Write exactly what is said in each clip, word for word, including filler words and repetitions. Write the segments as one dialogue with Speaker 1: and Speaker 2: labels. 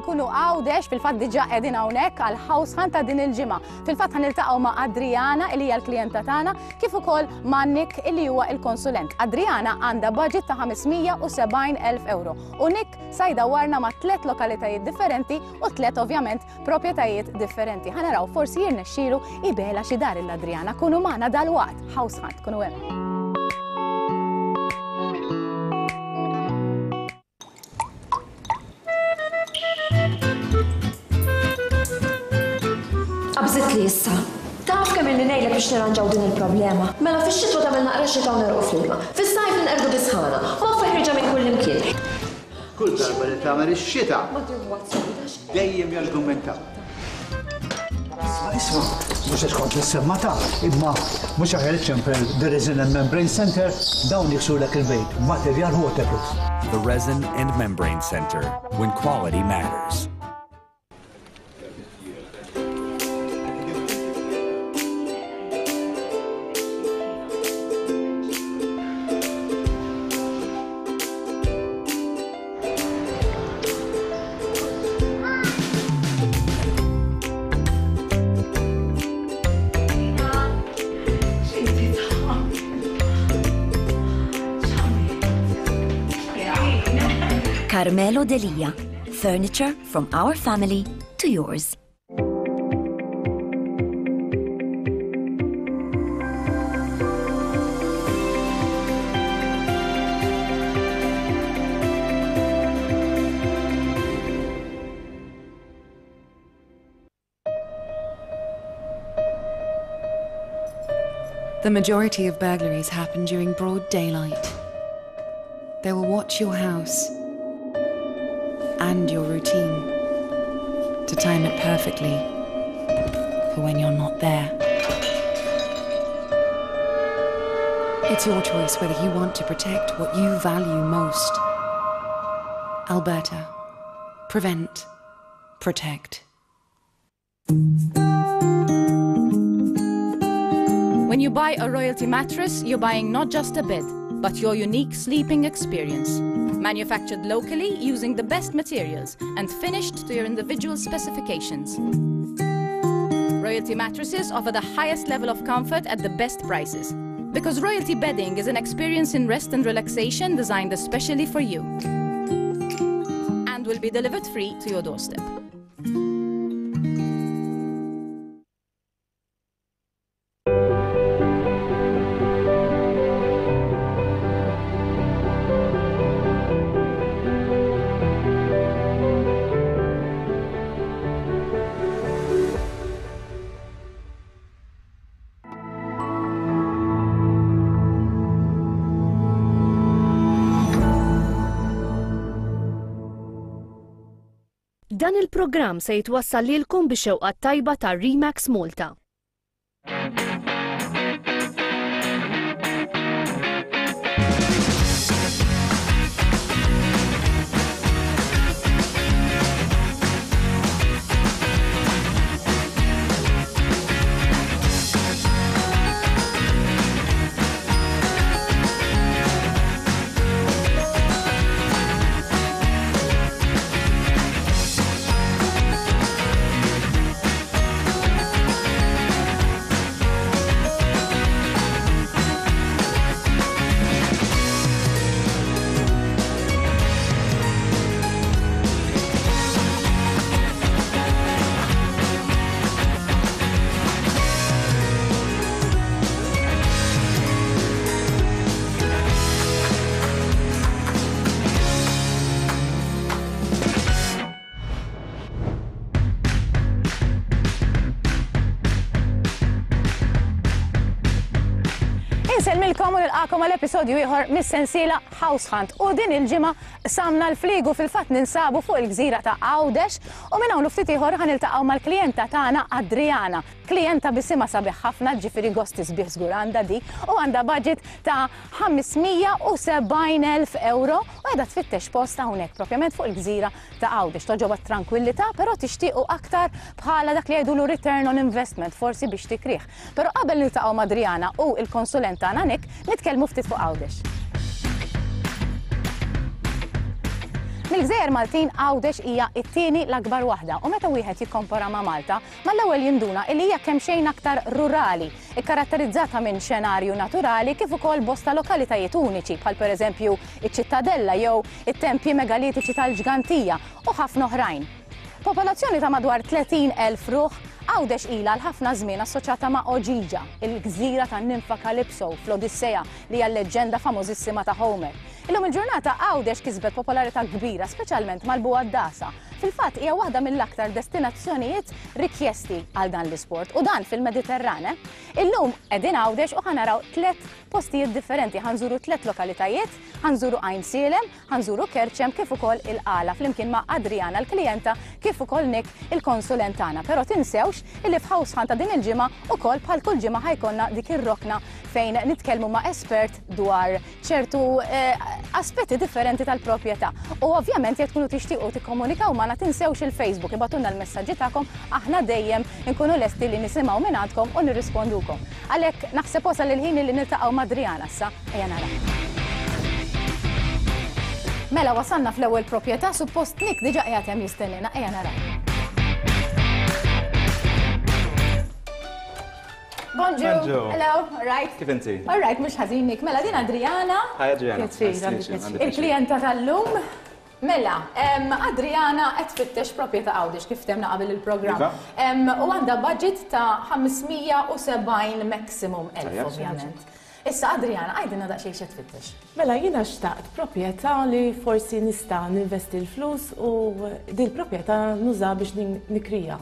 Speaker 1: ħa nkunu Għawdex, fil-fatt diġà qegħdin hawnhekk għal house hunt ta' din il-ġimgħa. Fil-fatt ħa niltaqgħu ma' Adriana, li hija l-klijenta tagħna, kif ukoll ma' Nick, illi huwa il-konsulent. Adriana għandha budget ta' ħames mija u sebgħin elf euro u Nick sa jdawwarna ma' tliet lokalitajiet differenti u tliet ovvjament proprjetajiet differenti. Ħa naraw forsi jirnexxielu jbigħilha xi dar lil Adriana. Kunu magħna dalwaqt, House Hunt, kunu hemm.
Speaker 2: Qabżit li issa. Taf kemm ili ngħidlek biex nirranġaw din il-problema. Mela fix-xitwa tagħmel naqra xita u negħrqu fl-ilma. Fis-sajf ninqerdu bis-sħana. Moffa ħierġa minn kull imkien.
Speaker 3: Kull darba li tagħmel ix-xita dejjem jargumentaw. Isma', isma', mhux għax kont l-semmata, imma mhux aħjar iċċempel The Resin and Membrane Center? Dawn jiksulek il-bejt, materjal waterproof.
Speaker 4: The Resin and Membrane Center, when quality matters.
Speaker 5: Carmelo Delia, furniture from our family to yours.
Speaker 6: The majority of burglaries happen during broad daylight. They will watch your house and your routine to time it perfectly for when you're not there. It's your choice whether you want to protect what you value most. Alberta. Prevent. Protect.
Speaker 1: When you buy a Royalty mattress, you're buying not just a bed, but your unique sleeping experience. Manufactured locally using the best materials and finished to your individual specifications. Royalty mattresses offer the highest level of comfort at the best prices. Because Royalty bedding is an experience in rest and relaxation designed especially for you. And will be delivered free to your doorstep.
Speaker 7: Dan il-programm se jitwassal lilkom bix-xewqa tajba ta' Remax Malta.
Speaker 1: Insellmilkom u nilqakom għal episodju ieħor mis-sensiela House Hunt, u din il-ġimgħa qsamna l-fliegu, fil-fatt ninsabu fuq il-gżira ta' Għawdex u minn hawn ftit ieħor ħa niltaqgħu mal-klijenta tagħna Adriana. Klijenta bisimha sabiħ ħafna, ġifieri gosti sbieħ żgur għandha di, u għandha budget ta' ħames mija u sebgħin elf euro u qiegħda tfittex post hawnhekk propjament fuq il-gżira ta' Għawdex. Togħġobha tranquillità, però tixtiequ aktar bħala dak li jgħidulu return on investment, forsi biex tikrih. Però qabel niltaqgħu ma' Adriana u il-konsulent tagħna Nick, nitkellmu ftit fuq Għawdex. Mill-gżejjer Maltin Għawdex hija t-tieni l-akbar waħda u meta wieħed jikkompara ma' Malta, mal-ewwel jinduna li hija kemm xejn aktar rurali, ikkaratterizzata minn xenarju naturali kif ukoll bosta lokalitajiet uniċi bħal pereżempju iċ-Ċittadella jew it-tempji megalitiċi tal-Ġgantija u ħafna oħrajn. Popolazzjoni ta' madwar tletin elf ruħ, Għawdex ilha għal ħafna żmien assoċjata ma' Oġiġa, il-gżira tan-ninfa Calypso fl-Odissea li hija l-leġġenda famożissima ta' Homer. Illum il-ġurnata Għawdex kisbet popolarità kbira, speċjalment mal-Bugħaddasa. Fil-fatt hija waħda mill-aktar destinazzjonijiet rikjesti għal dan l-isport u dan fil-Mediterran. Illum qegħdin Għawdex u ħanaraw tliet postijiet differenti, ħanżuru tliet lokalitajiet, ħanżuru Għajnsielem, ħanżuru Kerċem kif ukoll il-Qala flimkien ma' Adriana l-klijenta kif ukoll Nick il-konsulent tagħna. Però tinsewx illi f'House Hunt ta' din il-ġimgħa ukoll bħal kull ġimgħa ħajkonna dik ir-rokna fejn nitkellmu ma' espert dwar ċertu aspetti differenti tal-proprjetà. U ovvjament jekk tkunu tixtiequ tikkomunikaw magħna tinsewx il-Facebook, ibgħatulna l-messaġġi tagħkom, aħna dejjem inkunu lesti li nisimgħu minn għandkom u nirrispondukom. Għalhekk naħseb wasal il-ħin li niltaqgħu ma' Adriana issa, ejja nara. Mela wasalna fl-ewwel proprjetà, suppost Nick diġà qiegħed hemm jistennina, ejja nara. Bonjour. Hello, all right.
Speaker 8: Kif inti?
Speaker 1: All right, mhux ħażin Nick. Mela din Adriana.
Speaker 8: Hi Adriana.
Speaker 1: Il-klijenta tal-lum. Mela, Adriana qed tfittex proprjetà Għawdex kif temna qabel il-programm. U għandha budget ta' ħamsmija u sebgħin maximum elf ovvjament. Issa Adriana, għajdilna daqsxejn x'qed tfittex.
Speaker 9: Mela jiena xtaqt proprjetà li forsi nista' ninvesti l-flus u din proprjetà nuża biex nikrija.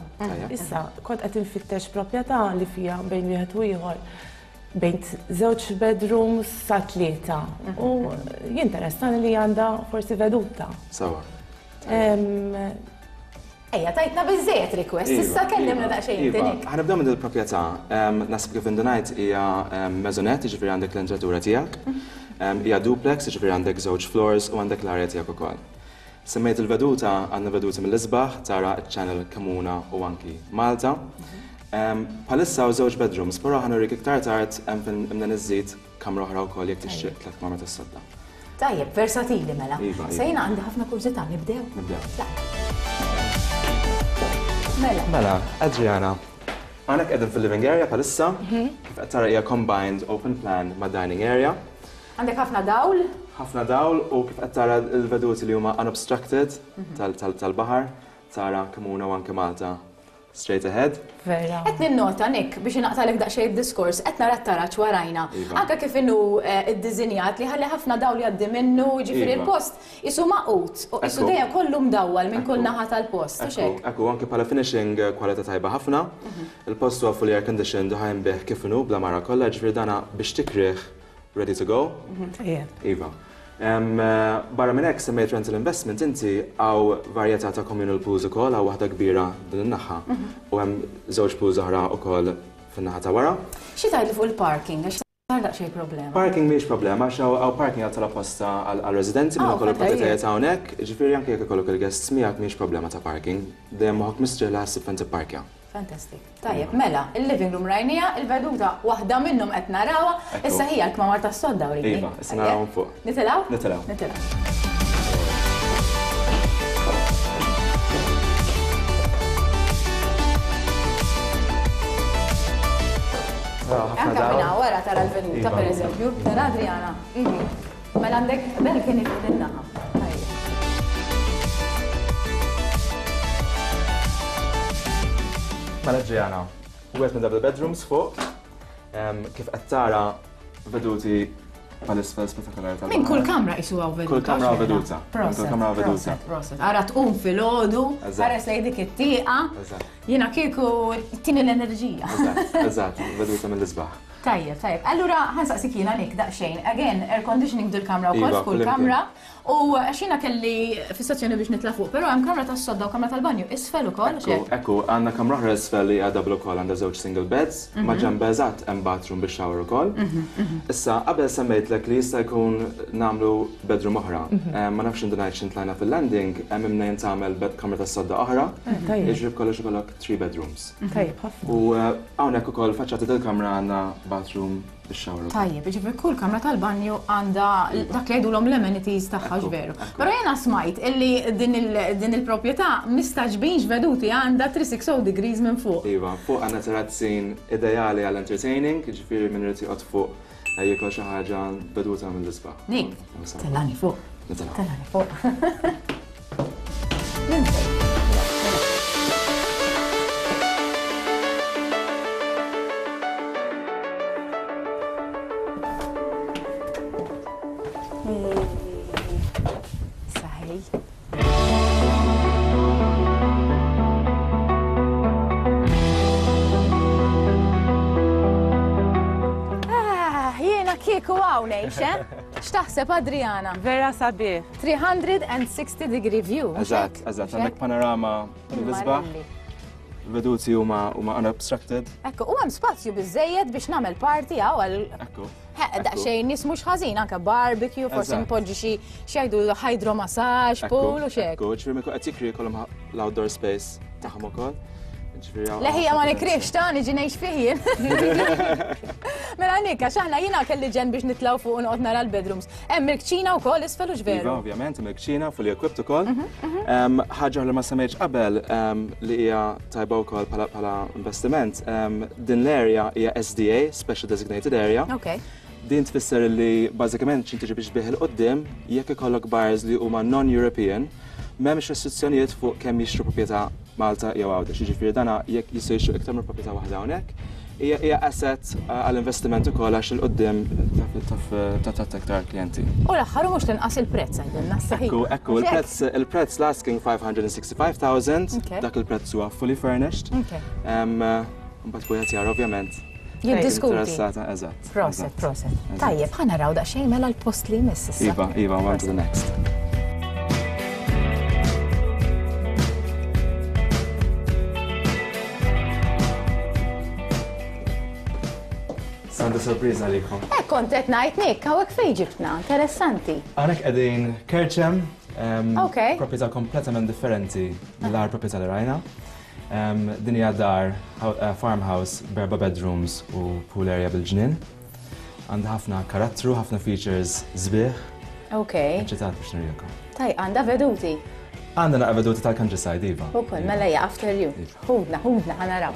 Speaker 9: Issa kont qed infittex proprjetà li fiha bejn wieħed u ieħor bejn żewġ bedrooms sa tlieta u jinteressani li għandha forsi veduta.
Speaker 8: Sawa.
Speaker 1: Ejja, tajtna biżżejjed request, issa kellimna daqsxejn inti Nick.
Speaker 8: Ħa nibdew minn il-proprjetà. Naħseb kif indunajt hija maisonette, jiġifieri għandek l-entratura tiegħek. Hija duplex, jiġifieri għandek żewġ floors u għandek l-arja tiegħek ukoll. Semmejt il-veduta, għandna veduta mill-isbaħ, tara ċ-channel Kamuna u anki Malta. Bħalissa hawn żewġ bedrooms, però ħa nurik iktar tard hemm fejn imna niżżid kamra oħra wkoll jekk tixtieq tliet kmamar tas-sodda.
Speaker 1: Tajjeb, versatili mela. Se jiena għandi ħafna kurżità, nibdew?
Speaker 8: Nibdew.
Speaker 1: Mela.
Speaker 8: Mela, Adriana, għandek qegħdin fil-living area bħalissa, kif qed tara hija combined open plan ma' dining area.
Speaker 1: Għandek ħafna dawl?
Speaker 8: Ħafna dawl u kif qed tara l-veduti li huma unobstructed tal-baħar, tara Kamuna u anke Malta straight ahead.
Speaker 9: Vera.
Speaker 1: Qed ninnota Nick biex inaqtalek daqsxejn id-diskors, qed nara t-taraġ warajna. Anke kif inhu ddisinjat li ħalli ħafna dawl jgħaddi minnu, jiġifieri l-post isu maqut u isu dejjem kollu mdawwal minn kull naħa tal-post, u x'hekk.
Speaker 8: Ekku, anke bħala finishing kwalità tajba ħafna. Il-post huwa fully air conditioned u ħajn bih kif inhu bla mara kollha, jiġifieri dana biex tikrih ready to go. Iva. Barra minn hekk semmejt rental investment inti hawn varjetà ta' communal pools ukoll, hawn waħda kbira din in-naħa u hemm żewġ pools oħra wkoll fin-naħa ta' wara.
Speaker 1: Xi tgħidli fuq il-parking għax sar daqsxejn problema.
Speaker 8: Parking mhijiex problema għax hawn parking għal tal-apposta għall-residenti minn ukoll il-proprjetajiet hawnhekk, jiġifieri anke jekk ikollok il-guests miegħek mhijiex problema ta' parking, dejjem moħħok mistrieħ li ħassib fejn tipparkja.
Speaker 1: Fantastic. Tajjeb, mela, il-living room rajnija, il-veduta waħda minnhom qed narawha, issa hija l-kmamar tas-sodda urini.
Speaker 8: Iva, issa narawhom fuq.
Speaker 1: Nitilgħu?
Speaker 8: Nitilgħu.
Speaker 1: Nitilgħu. Anka minna wara tara l-veduta, per eżempju, tara Adriana. Mela għandek balcony fuq in-naħa.
Speaker 8: Mela Adriana, wieħed minn double bedrooms fuq, kif qed tara veduti bħal-isfel spettakolari tal.
Speaker 1: Minn kull kamra qisu hawn veduta.
Speaker 8: Kull kamra hawn veduta. Kull kamra hawn veduta.
Speaker 1: Ara tqum filgħodu, ħares lejn dik it-tieqa. Jiena kieku tini l-enerġija.
Speaker 8: Eżatt, eżatt, veduta mill-isbaħ.
Speaker 1: Tajjeb, tajjeb. Allura ħansaqsik jiena Nick daqsxejn. Again, air conditioning dil-kamra wkoll f'kull kamra. U għax jiena kelli fissazzjoni biex nitla' fuq, però hemm kamra tas-sodda u kamra tal-banju isfel ukoll.
Speaker 8: Ekku, ekku, għandna kamra oħra isfel li hija double ukoll, għandha żewġ single beds, ma' ġenb eżatt hemm bathroom bix shower ukoll. Issa qabel semmejtlek li jista' jkun nagħmlu bedroom oħra. Ma nafx indunajt x'intlajna fil-landing, hemm imnejn tagħmel kamra tas-sodda oħra. Jiġri b'kollox ikollok three bedrooms.
Speaker 9: Tajjeb ħafna.
Speaker 8: U hawnhekk ukoll faċċata dil-kamra għandna bathroom bix-shower.
Speaker 1: Tajjeb, jiġifieri kull kamra tal-banju għandha dak li jgħidulhom l-amenities tagħha, veru. Però jiena smajt illi din il-proprjetà mistagħġbin x'veduti għandha three sixty degrees minn fuq.
Speaker 8: Iva, fuq għandna terrazzin ideali għall entertaining, jiġifieri min irid joqgħod fuq jiekol xi ħaġa, veduta mill-isbaħ.
Speaker 1: Nick, tellani fuq. Tellani fuq. Minn fejn? Saħej. Ah, jiena kieku hawn ngħix, eh? X'taħseb, Adriana?
Speaker 9: Vera sabiħ.
Speaker 1: three hundred sixty degree view, mhux
Speaker 8: Eżatt,
Speaker 1: hekk?
Speaker 8: eżatt,
Speaker 1: Mhux
Speaker 8: għandek
Speaker 1: hekk?
Speaker 8: panorama mill-isbaħ. Veduti huma huma unobstructed.
Speaker 1: Ekku, u hemm spazju biżejjed biex nagħmel party hawn għal
Speaker 8: Ekku.
Speaker 1: daqsxejn nies mhux ħażin, anke barbecue, forsi
Speaker 8: Eżatt.
Speaker 1: npoġġi xi xi jgħidu hydromassage, pool u xek.
Speaker 8: Ekku, ġifieri mikku qed jikri jkollhom l-outdoor space tagħhom ukoll. Ġifieri hawn-
Speaker 1: Leħija ma nikrix ta' niġi ngħix fih jien. Mela Nick, għax aħna jiena kelli ġen biex nitlgħu fuq u noqgħod nara l-bedrooms. Hemm il-kċina wkoll isfel u
Speaker 8: Iva,
Speaker 1: veru.
Speaker 8: ovvjament, hemm il-kċina fully equipped ukoll. Em, Ħaġa li ma semmejtx qabel em, li hija tajba wkoll bħala bħala investiment, em, din l-area hija S D A, Special Designated Area.
Speaker 1: Ok.
Speaker 8: Din tfisser li bażikament x'inti tiġi biex tbigħ 'il quddiem, jekk ikollok buyers li huma non-European, m'hemmx restrizzjonijiet fuq kemm jixtru proprjetà Malta jew Għawdex. Jiġifieri dana jekk jistgħu jixtru iktar minn proprjetà waħda hawnhekk, hija hija asset uh, għall-investiment ukoll għax 'il quddiem taf taf taf aktar klijenti.
Speaker 1: U l-aħħar u mhux tinqas il-prezz għidilna saħi.
Speaker 8: Ekku, ekku, il-prezz il-prezz l-asking five hundred sixty-five thousand,
Speaker 1: Okay.
Speaker 8: dak il-prezz huwa fully furnished.
Speaker 1: Okay.
Speaker 8: Em, uh, Mbagħad wieħed jara ovvjament.
Speaker 1: Jiddiskuti.
Speaker 8: Interessata, eżatt.
Speaker 1: Proset,
Speaker 8: eżatt.
Speaker 1: proset. Tajjeb, ħa naraw daqsxejn mela l-post li jmiss issa.
Speaker 8: Iva, Iva, on to the next. Għandi sorpriża għalikom.
Speaker 1: Eh, kont qed ngħid, Nick, hawnhekk fejn ġibtna, interessanti.
Speaker 8: Hawnhekk qegħdin Kerċem, em,
Speaker 1: Ok.
Speaker 8: proprjetà kompletament differenti mill-aħħar proprjetà li rajna. Em, Din hija dar, hou- eh, farmhouse, b'erba' bedrooms u pool area bil-ġnien. Għandha ħafna karattru, ħafna features sbieħ.
Speaker 1: Ok.
Speaker 8: Eċitat biex nurikom.
Speaker 1: Taj, għandha veduti.
Speaker 8: Għandha naqra veduti tal-countryside, iva.
Speaker 1: Ukoll, mela hija after you.
Speaker 8: Iva.
Speaker 1: Ħudna, ħudna, ħa naraw.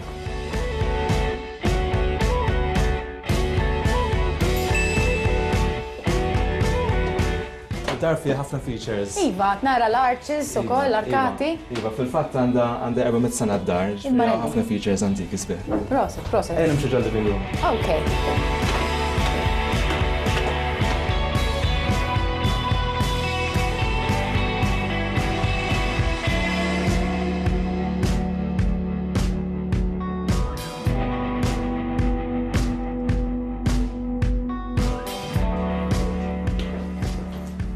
Speaker 8: Dar fiha ħafna features.
Speaker 1: Iva, nara l-arches u
Speaker 8: Iva,
Speaker 1: koll, l-arkati.
Speaker 8: Iva, iva, fil-fatt għandha għandha erba' mitt sena d-dar, ġifieri
Speaker 1: Imma
Speaker 8: ħafna features antiki sbieħ.
Speaker 1: Proset, proset.
Speaker 8: Ejja nimxu ġol-living room.
Speaker 1: Ok.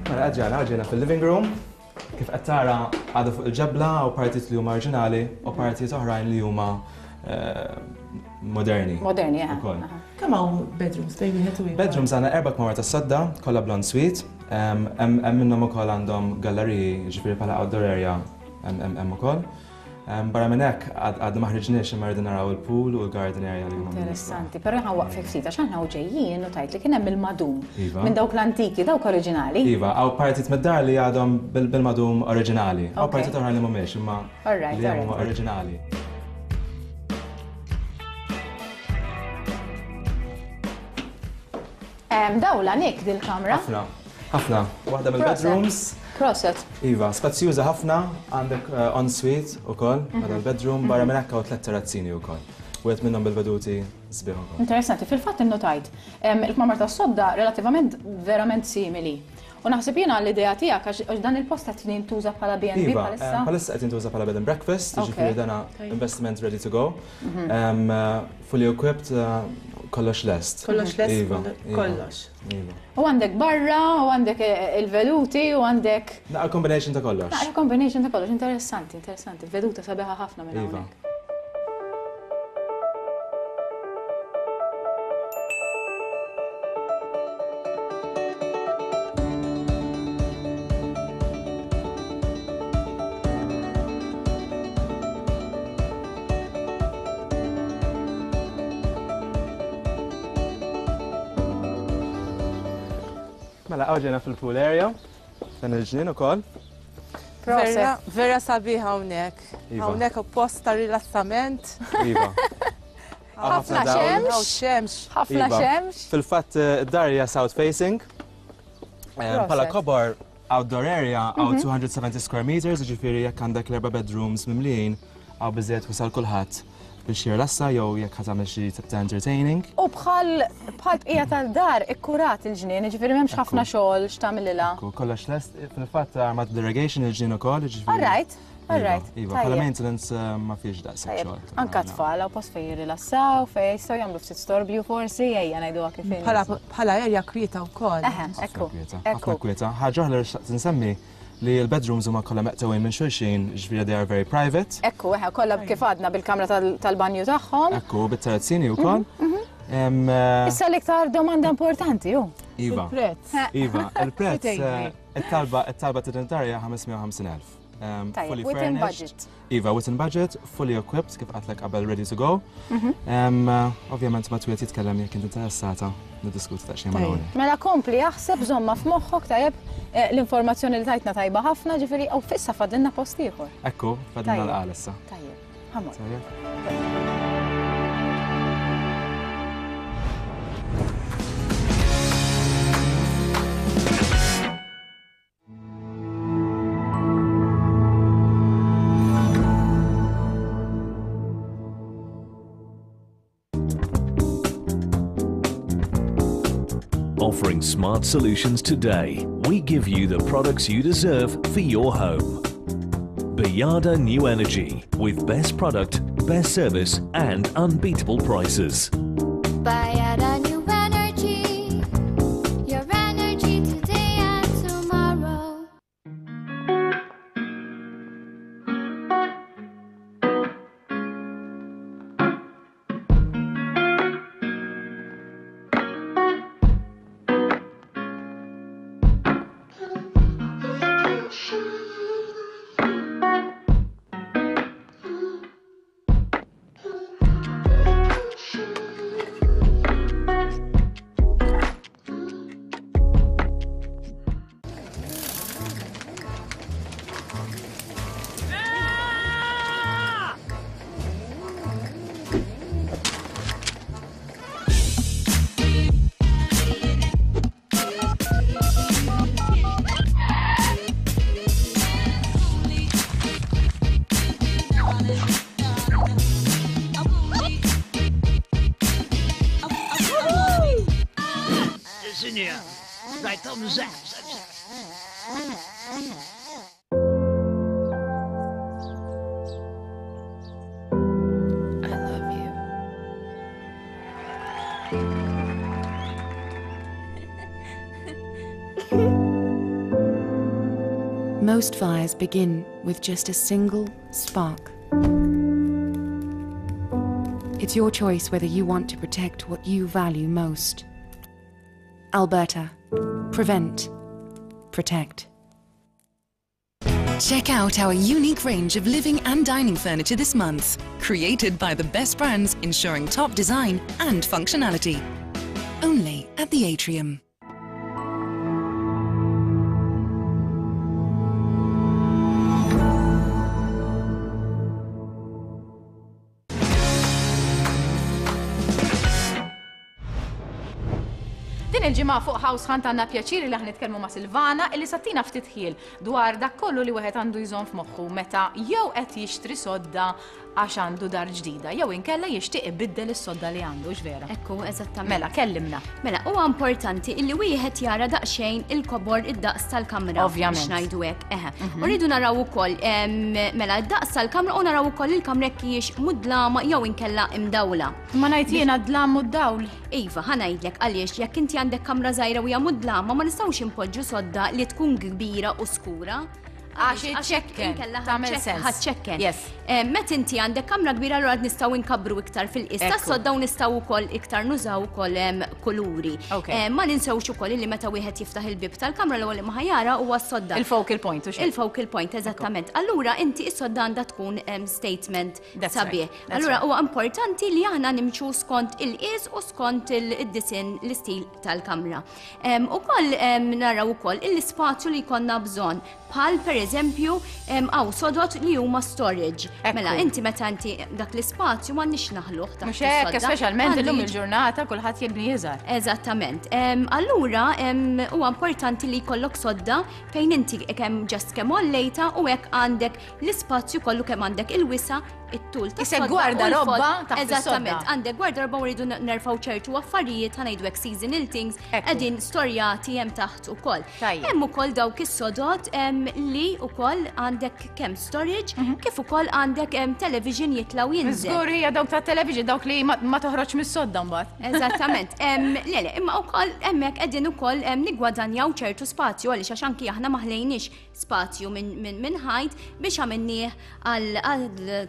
Speaker 8: Mela ġara, ġejna fil-living room. Kif qed tara, għadha fuq il-ġebla u partijiet li huma oriġinali u partijiet oħrajn li huma eh, moderni.
Speaker 1: Moderni, eh.
Speaker 8: Ukoll.
Speaker 9: Kemm hawn bedrooms bejn wieħed u ieħor?
Speaker 8: Bedrooms għandna erba' kmamar tas-sodda, kollha bl-ensuite. Hemm hemm minnhom ukoll għandhom galleriji, ġifieri bħala outdoor area hemm hemm hemm ukoll. Em, Barra minn hekk għad għadna ma ħriġniex imma rridu naraw il-pool u l-garden area li huma
Speaker 1: Interessanti, però ħa waqfek ftit għax aħna u ġejjin u tajt li kien hemm il-madum.
Speaker 8: Iva.
Speaker 1: Minn dawk l-antiki, dawk oriġinali.
Speaker 8: Iva, hawn partijiet mid-dar li għadhom bil- bil-madum oriġinali. Hawn
Speaker 1: Ok.
Speaker 8: partijiet oħra li mhumiex, imma
Speaker 1: Alright,
Speaker 8: li hemm huma
Speaker 1: alright.
Speaker 8: oriġinali.
Speaker 1: Em, Dawla Nick dil-kamra.
Speaker 8: Ħafna, ħafna. Waħda mill-bedrooms.
Speaker 1: Proset.
Speaker 8: Iva, spazjuża ħafna, għandek uh, en-suite ukoll, mm il-bedroom, barra minn hekk hawn tliet terrazzini wkoll. Wieħed minnhom bil-veduti sbieħ ukoll.
Speaker 1: Interessanti, fil-fatt innotajt. Em, Il-kmamar tas-sodda relativament verament simili. U naħseb jiena l-idea tiegħek għax għax dan il-post qed jintuża bħala B and B
Speaker 8: Iva,
Speaker 1: bħalissa.
Speaker 8: em, bħalissa qed jintuża bħala bed and breakfast,
Speaker 1: Ok.
Speaker 8: ġifieri dana investment ready to go. Em, uh, fully equipped, uh, kollox lest.
Speaker 9: Kollox lest,
Speaker 8: Iva,
Speaker 9: kollo-
Speaker 8: iva,
Speaker 9: kollox.
Speaker 8: Iva.
Speaker 1: U għandek barra, u għandek eh, il-veduti, u għandek
Speaker 8: Naqra combination ta' kollox.
Speaker 1: Naqra combination ta' kollox, interessanti, interessanti. Veduta sabiħa ħafna minn
Speaker 8: Iva.
Speaker 1: hawnhekk.
Speaker 8: Mela hawn ġejna fil-pool area, dan il-ġnien ukoll.
Speaker 9: Vera, vera sabiħ hawnhekk.
Speaker 8: Iva.
Speaker 9: Hawnhekk post ta' rilassament.
Speaker 8: Iva.
Speaker 1: Ħafna
Speaker 8: dawl.
Speaker 1: xemx.
Speaker 9: Hawn xemx.
Speaker 1: Ħafna
Speaker 8: Iva.
Speaker 1: xemx.
Speaker 8: Fil-fatt eh, id-dar hija south facing. Eh, Bħala kobor outdoor area hawn two hundred seventy square meters, ġifieri jekk għandek l-erba' bedrooms mimlijin, hawn biżejjed wisa' għal kulħadd biex jirlassa jew jekk ħa tagħmel xi tip ta' entertaining.
Speaker 1: U bħal bħal bqija tal-dar ikkurat il-ġnien, ġifieri m'hemmx ħafna xogħol x'tagħmililha.
Speaker 8: Ekku, kollox lest, fil-fatt armat bl-irrigation il-ġnien ukoll, ġifieri.
Speaker 1: All right, all right.
Speaker 8: Iva, bħala maintenance eh, ma fiex daqshekk
Speaker 1: Tajjeb,
Speaker 8: xogħol.
Speaker 1: anka tfal, hawn post fejn jirrilassaw, fejn jistgħu jagħmlu ftit storbju forsi, ejja ngħiduha kif inhi.
Speaker 9: Bħala bħala area kwieta wkoll.
Speaker 1: Eħe, ekku.
Speaker 8: Kwieta,
Speaker 1: Ekku.
Speaker 8: ħafna kwieta. Ħaġa oħra li xtaqt insemmi li l-bedrooms huma kollha meqtewin minn xulxin, ġifieri they are very private.
Speaker 1: Ekku, eħe, kollha kif għadna bil-kamra tal- tal-banju tagħhom.
Speaker 8: Ekku, bit-terrazzini wkoll. Em, eh,
Speaker 1: Issa l-iktar domanda importanti, ju.
Speaker 8: Iva.
Speaker 9: Il-prezz.
Speaker 8: Iva, il-prezz,
Speaker 9: Xi
Speaker 8: eh, it-talba, it-talba ta' ħames mija u ħamsin elf. Um,
Speaker 1: Tajjeb,
Speaker 8: fully
Speaker 1: within
Speaker 8: furnished.
Speaker 1: budget.
Speaker 8: Iva, within budget, fully equipped, kif għedtlek qabel, ready to go.
Speaker 1: Mhm.
Speaker 8: Um, uh, Ovvjament ma twiet jitkellem jekk inti interessata niddiskuti ta' xejn mal
Speaker 1: Mela kompli jaħseb, żomma f'moħħok tajjeb eh, l-informazzjoni li tajtna tajba ħafna, ġifieri u fissa fadlinna post ieħor.
Speaker 8: Ekku, fadlinna
Speaker 1: Tajjeb.
Speaker 8: l-qal issa.
Speaker 1: Tajjeb, ħa mmorru.
Speaker 8: Tajjeb.
Speaker 10: Offering smart solutions today, we give you the products you deserve for your home. Bajada New Energy, with best product, best service, and unbeatable prices.
Speaker 11: Bajada New Energy, your energy today and tomorrow.
Speaker 12: Sinja, rajtom zap, zap, zap.
Speaker 6: I love you. Most fires begin with just a single spark. It's your choice whether you want to protect what you value most. Alberta. Prevent. Protect. Check out our unique range of living and dining furniture this month. Created by the best brands, ensuring top design and functionality. Only at the Atrium.
Speaker 1: Din il-ġimgħa fuq House Hunt għandna pjaċiri li nitkellmu ma' Silvana illi se ttina ftit ħjiel dwar dak kollu li wieħed għandu jżomm f'moħħu meta jew qed jixtri sodda għax għandu dar ġdida jew inkella jixtieq ibiddel is-sodda li għandu, vera.
Speaker 13: Ekku, eżattament.
Speaker 1: Mela, kellimna.
Speaker 13: Mela, huwa importanti illi wieħed jara daqsxejn il-kobor, id-daqs tal-kamra.
Speaker 1: Ovvjament.
Speaker 13: Biex ngħidu hekk, eħe.
Speaker 1: Mhm.
Speaker 13: U rridu naraw ukoll em, mela d-daqs tal-kamra u naraw ukoll il-kamra jekk hijiex mudlama jew inkella imdawla.
Speaker 1: Ma ngħid jiena dlam u d-dawl.
Speaker 13: Iva, ħa ngħidlek għaliex. Jekk inti għandek kamra żgħira u hija mudlama, ma nistgħux impoġġu sodda li tkun kbira u skura.
Speaker 14: Għax iċċekken, tagħmel sens.
Speaker 13: Ħa ċċekken.
Speaker 14: Yes.
Speaker 13: Meta inti għandek kamra kbira allura nistgħu nkabbru iktar fil-qies tas-sodda u nistgħu wkoll iktar nużaw ukoll kuluri. Ma ninsewx ukoll li meta wieħed jiftaħ il-bib tal-kamra l-ewwel li ma ħajara huwa s-sodda.
Speaker 14: Il-focal point u xejn.
Speaker 13: Il-focal point, eżattament. Allura inti s-sodda għandha tkun statement sabiħ. Allura huwa importanti li aħna nimxu skont il-qies u skont il-disin l-istil tal-kamra. Ukoll naraw ukoll l-ispazju li jkollna bżonn bħal pereżempju hawn sodot li huma storage. Mela inti meta inti dak l-ispazju m'għandniex naħluh taħt.
Speaker 14: Mhux hekk, speċjalment illum il-ġurnata kulħadd jibni iżgħar.
Speaker 13: Eżattament. Allura huwa importanti li jkollok sodda fejn inti kemm ġast kemm għollejta u hekk għandek l-ispazju kollu kemm għandek il-wisa it-tul ta'
Speaker 14: Isek gwardarobba taħt.
Speaker 13: Eżattament, għandek gwardarobba u rridu nerfgħu ċertu affarijiet, ħa ngħidu hekk seasonal things, qegħdin storjati hemm taħt ukoll. Hemm ukoll dawk is-sodot li ukoll għandek kemm storage, kif ukoll għandek television jitlaw jinżel.
Speaker 14: Żgur hija dawk ta' television dawk li ma toħroġ mis-sodda mbagħad.
Speaker 13: Eżattament. Le le, imma wkoll hemmhekk qegħdin ukoll niggwadanjaw ċertu spazju għaliex għax anki aħna ma ħlejniex spazju minn ħajt biex għamilnieh għal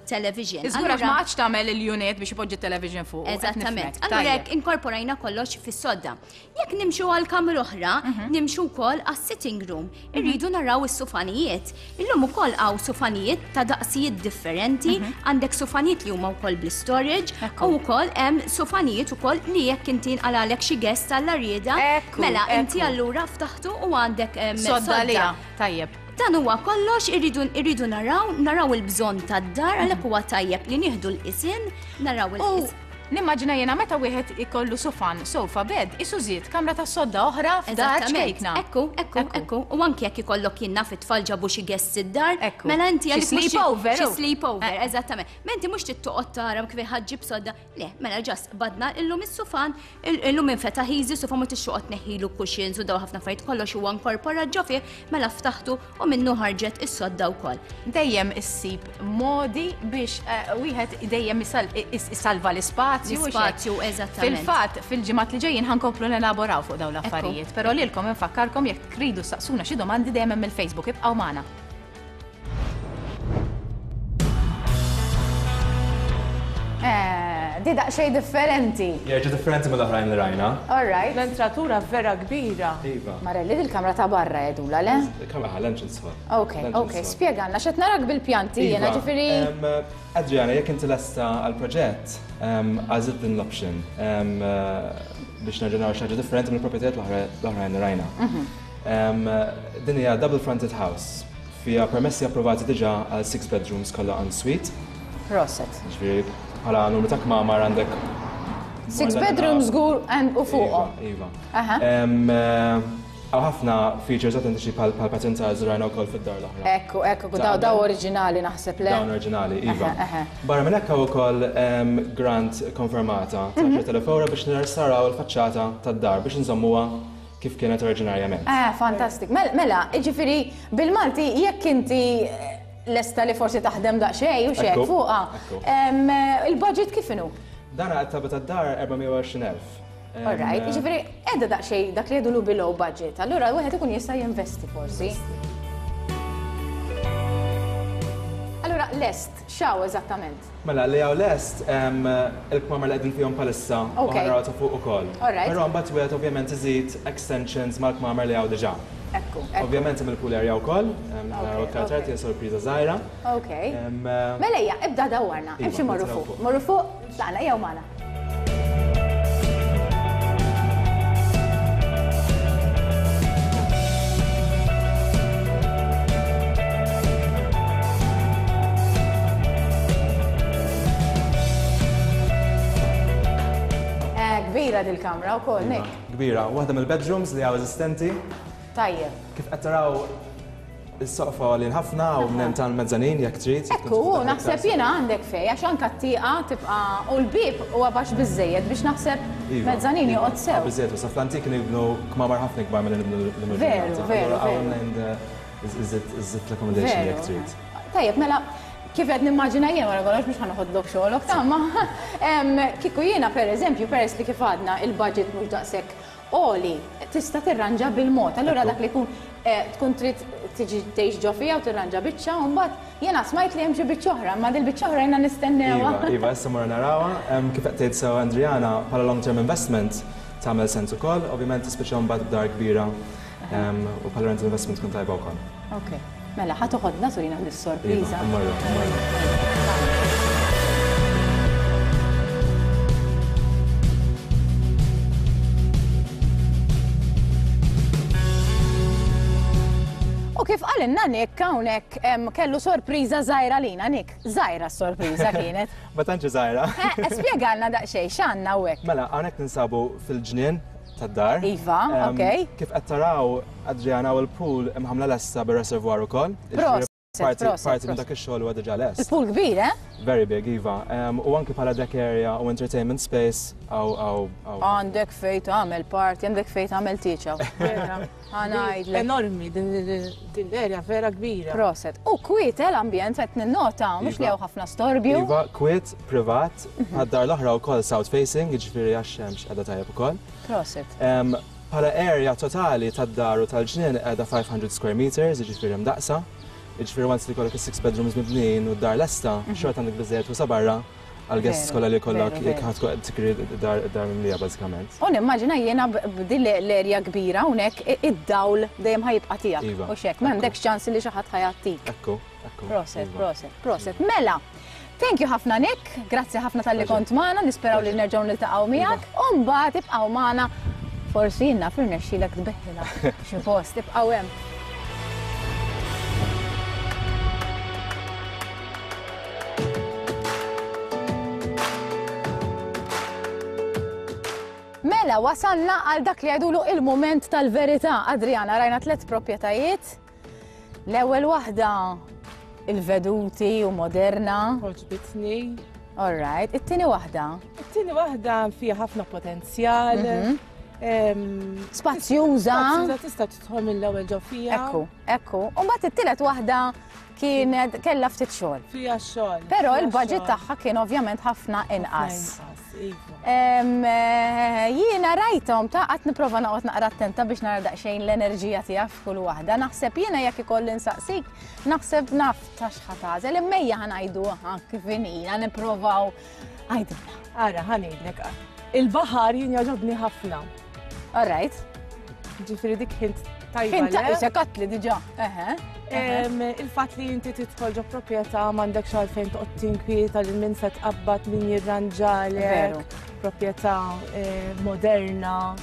Speaker 13: television.
Speaker 14: Iżgur għax ma għadx tagħmel il-unit biex ipoġġi television fuq.
Speaker 13: Eżattament. Allura hekk inkorporajna kollox fis-sodda. Jekk nimxu għal kamra oħra, nimxu wkoll għas-sitting room. Irridu naraw is-sufanijiet. Illum ukoll hawn sufanijiet ta' daqsijiet differenti, għandek sufanijiet li huma wkoll bl-storage u wkoll hemm sufanijiet ukoll li jekk inti nqalalek xi guest għall-rieda, mela inti allura ftaħtu u għandek
Speaker 14: sodda. Tajjeb.
Speaker 13: Dan huwa kollox irridu naraw, naraw il-bżonn tad-dar għalhekk huwa tajjeb li nieħdu l-qisin, naraw il-qisin.
Speaker 14: Nimmaġina jiena meta wieħed ikollu sofan, sofa bed, isu żied kamra ta' sodda oħra f'dar ċkejkna.
Speaker 13: Ekku, ekku, ekku. U anke jekk ikollok jiena fit-tfal ġabu xi guests id-dar, mela inti
Speaker 14: għalik sleepover.
Speaker 13: Xi sleepover, eżattament. Ma inti mhux tittoqgħod tara kif ħaġġib sodda. Le, mela ġast badna illum is-sufan, illum infetaħ easy, sofa ma tixxoqgħod neħilu cushions u daw ħafna affarijiet kollox huwa inkorporat ġo fih, mela ftaħtu u minnu ħarġet is-sodda wkoll.
Speaker 14: Dejjem issib modi biex wieħed dejjem isalva l-ispazju.
Speaker 13: L-ispazju, eżattament.
Speaker 14: Fil-fatt, fil-ġimgħat li ġejjin ħankomplu nelaboraw fuq dawn l-affarijiet, però lilkom infakkarkom jekk tridu saqsuna xi domandi dejjem hemm il-Facebook, ibqgħu magħna.
Speaker 15: Di daqsxejn differenti.
Speaker 8: Jerġa' differenti mill-oħrajn li rajna.
Speaker 15: All right.
Speaker 9: L-entratura vera kbira.
Speaker 8: Iva.
Speaker 15: Marelli, dil-kamra ta' barra jedula, le?
Speaker 8: Il-kamra ħal-entrance hall.
Speaker 15: Ok, ok, spjegalna x'qed narak bil-pjanti jiena ġifieri.
Speaker 8: Adriana, jekk inti lesta għall-proġett, għażilt din l-option biex nerġa' naraw xi ħaġa differenti mill-proprjetajiet l-oħrajn li rajna. Din hija double fronted house. Fiha permessi approvati diġà għal six bedrooms kollha en suite.
Speaker 15: Proset.
Speaker 8: Ġifieri bħala numru ta' kmamar għandek.
Speaker 15: Six bedrooms żgur u fuqhom.
Speaker 8: Iva. Hawn ħafna features autentiċi bħal pattern tiles rajna wkoll fid-dar l-oħra.
Speaker 15: Ekku, ekku, daw daw oriġinali naħseb le.
Speaker 8: Dawn oriġinali, iva. Barra minn hekk hawn ukoll grant konfermata ta' għaxar elef ewro biex nirrestawraw il-faċċata tad-dar biex nżommuha kif kienet oriġinarjament.
Speaker 15: Eh, fantastik. Mela, jiġifieri bil-Malti jekk inti lesta li forsi taħdem daqsxejn u xejn fuqha. Il-budget kif inhu?
Speaker 8: Dan għat-taba tad-dar erba' mija u għoxrin elf.
Speaker 15: All right, jiġifieri qiegħda daqsxejn dak li jgħidulu below budget, allura wieħed ikun jista' jinvesti forsi. Allura lest, x'hawn eżattament?
Speaker 8: Mela li hawn lest il-kmamar li qegħdin fihom bħalissa u ħanaraw ta' fuq ukoll. Però mbagħad wieħed ovvjament iżid extensions mal-kmamar li hawn diġà.
Speaker 15: Ekku, ekku.
Speaker 8: Ovvjament hemm il-pool area wkoll, naraw iktar tard hija sorpriża żgħira.
Speaker 15: Ok. Mela ejja, ibda dawwarna, imxi morru fuq. Morru fuq, tlaqna ejjew magħna. Kbira dil-kamra wkoll, Nick.
Speaker 8: Kbira, waħda mill-bedrooms li hawn eżistenti.
Speaker 15: Tajjeb.
Speaker 8: Kif qed taraw is-soqfa għalin ħafna u minn tal-mezzanin jekk trid.
Speaker 15: Ekku, naħseb jiena għandek fej għax anke t-tieqa tibqa' u l-bieb huwa baxx biżejjed biex naħseb mezzanin joqgħod sew.
Speaker 8: Biżejjed, u sa fl-antik nibnu kmamar ħafna ikbar milli nibnu l-lum.
Speaker 15: Veru, veru.
Speaker 8: Iżid l-accommodation jekk trid.
Speaker 15: Tajjeb, mela kif qed nimmaġina jien wara kollox mhux ħanoħodlok xogħolok ta' ma kieku jiena pereżempju peress li kif għadna il-budget mhux daqshekk Oli, tista' tirranġa bil-mod. Allura dak li jkun tkun trid tiġi tgħix ġo fiha u tirranġa biċċa u mbagħad jiena smajt li hemm xi biċċa oħra, imma dil biċċa oħra jiena nistennewha.
Speaker 8: Iva, iva, issa morru narawha. Kif qed tgħid sew Andriana, bħala long term investment tagħmel sens ukoll, ovvjament tispiċċa mbagħad b'dar kbira u bħala rental investment tkun tajba wkoll.
Speaker 15: Ok, mela ħa toħodna turina dis-sorpriża.
Speaker 8: Iva, mmorru, mmorru.
Speaker 15: U kif qalilna Nick hawnhekk kellu sorpriża żgħira lina Nick. Żgħira s-sorpriża kienet.
Speaker 8: Ma tantx żgħira.
Speaker 15: Spjegalna daqsxejn x'għandna hawnhekk.
Speaker 8: Mela, hawnhekk ninsabu fil-ġnien tad-dar.
Speaker 15: Iva, ok.
Speaker 8: Kif qed taraw Adriana u l-pool imħamla lesta bir-reservoir ukoll.
Speaker 15: Proset,
Speaker 8: Parti minn dak ix-xogħol huwa diġà lest.
Speaker 15: Il-pool kbir, eh?
Speaker 8: Very big, iva. U anki bħala deck area u entertainment space aw aw aw.
Speaker 15: Għandek fejn tagħmel party, għandek fejn tagħmel tieċa. Ħa ngħidlek.
Speaker 9: Enormi din l-area vera kbira.
Speaker 15: Proset. U kwiet l-ambjent qed ninnota, mhux li hawn ħafna storbju.
Speaker 8: Iva, kwiet, privat, għad-dar l-oħra wkoll south facing, jiġifieri għax-xemx qiegħda tajjeb ukoll.
Speaker 15: Proset.
Speaker 8: Bħala area totali tad-dar u tal-ġnien qiegħda five hundred square meters, jiġifieri mdaqsa. Jiġifieri once li jkollok is-six bedrooms mibnijin u d-dar lesta, xorta għandek biżżejjed wisa' barra għal-guests kollha li jkollok jekk ħadd tkun qed tikri d-dar mimlija bażikament.
Speaker 15: U nimmaġina jiena b'din l-erja kbira hawnhekk id-dawl dejjem ħa jibqa' tiegħek. U x'hekk, m'għandekx ċans li xi ħadd ħa jgħattik.
Speaker 8: Ekku, ekku.
Speaker 15: Proset, proset, proset. Mela, thank you ħafna Nick, grazzi ħafna talli kont magħna, nisperaw li nerġgħu niltaqgħu miegħek, u mbagħad ibqgħu magħna forsi jiena firnexxilek tbeħħilha xi post, ibqgħu hemm. Mela, wasalna għal dak li għedulu il-moment tal-verità. Adriana, rajna tliet proprjetajiet. L-ewwel waħda il-veduti u moderna.
Speaker 9: Għoġbitni.
Speaker 15: All right. It-tieni waħda?
Speaker 9: It-tieni waħda fiha ħafna potenzjal.
Speaker 15: Spazjuża.
Speaker 9: Spazjuża tista' tidħol mill-ewwel ġo fiha.
Speaker 15: Ekku, ekku. U mbagħad it-tielet waħda kienet kellha ftit xogħol.
Speaker 9: Fiha xogħol.
Speaker 15: Però il-budget tagħha kien ovvjament ħafna inqas. Jiena rajthom ta' qatt nipprova noqgħod naqra attenta biex nara daqsxejn l-enerġija tiegħek f'kull waħda. Naħseb jiena jekk ikolli nsaqsik, naħseb naf ta' x'ħa tagħżel, imma ħa ngħidu kif inhi, nipprovaw għajdilna.
Speaker 9: Ara, ħa ngħidlek. Il-baħar jien jogħġobni ħafna.
Speaker 15: All right.
Speaker 9: Ġifieri dik ħint tajba.
Speaker 15: Ħint tajba, katli diġà.
Speaker 9: Il-fatt li inti tidħol ġo proprjetà m'għandekx għalfejn toqgħod tinkwieta lil min se tqabbad min jirranġalek. Proprjetà moderna.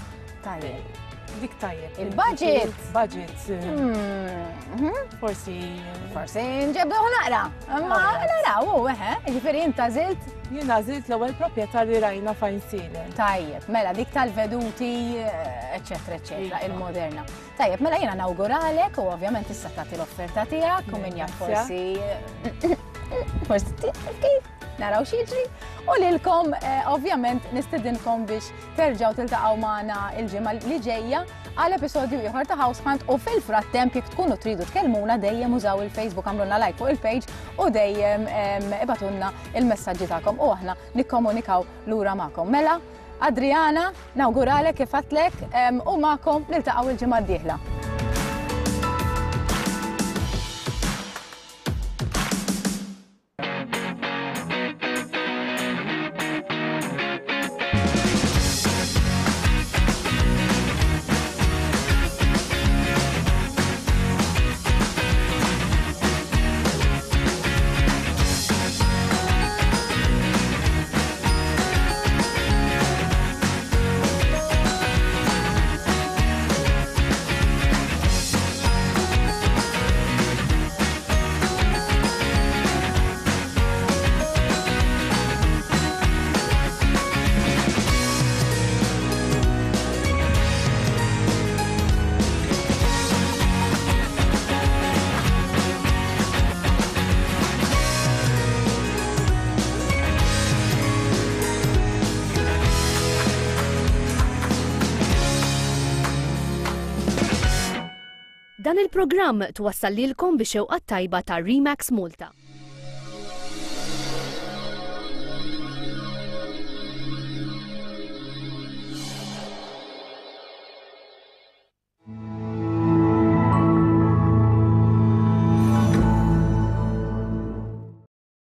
Speaker 15: Tajjeb.
Speaker 9: Dik tajjeb.
Speaker 15: Il-budget.
Speaker 9: Budget. Forsi.
Speaker 15: Forsi nġebduh naqra. Ma naraw, eħe, jiġifieri int għażilt?
Speaker 9: Jien għażilt l-ewwel proprjetà li rajna f'Għajnsielem.
Speaker 15: Tajjeb, mela dik tal-veduti, eċetera, eċetera, il-moderna. Tajjeb, mela jiena nawguralek u ovvjament issa tagħti l-offerta tiegħek u min jaf forsi forsi kif naraw x'jiġri. U lilkom ovvjament nistedinkom biex terġgħu tiltaqgħu magħna il-ġimgħa li ġejja għal episodju ieħor ta' House Hunt u fil-frattemp jekk tkunu tridu tkellmuna dejjem użaw il-Facebook, għamlulna like fuq il-page u dejjem ibatunna il-messaġġi tagħkom u aħna nikkomunikaw lura magħkom. Mela, Adriana, nawguralek kif għedtlek u magħkom niltaqgħu il-ġimgħa d-dieħla.
Speaker 7: Dan il-programm twassal lilkom bi xewqa tajba ta' Remax Malta.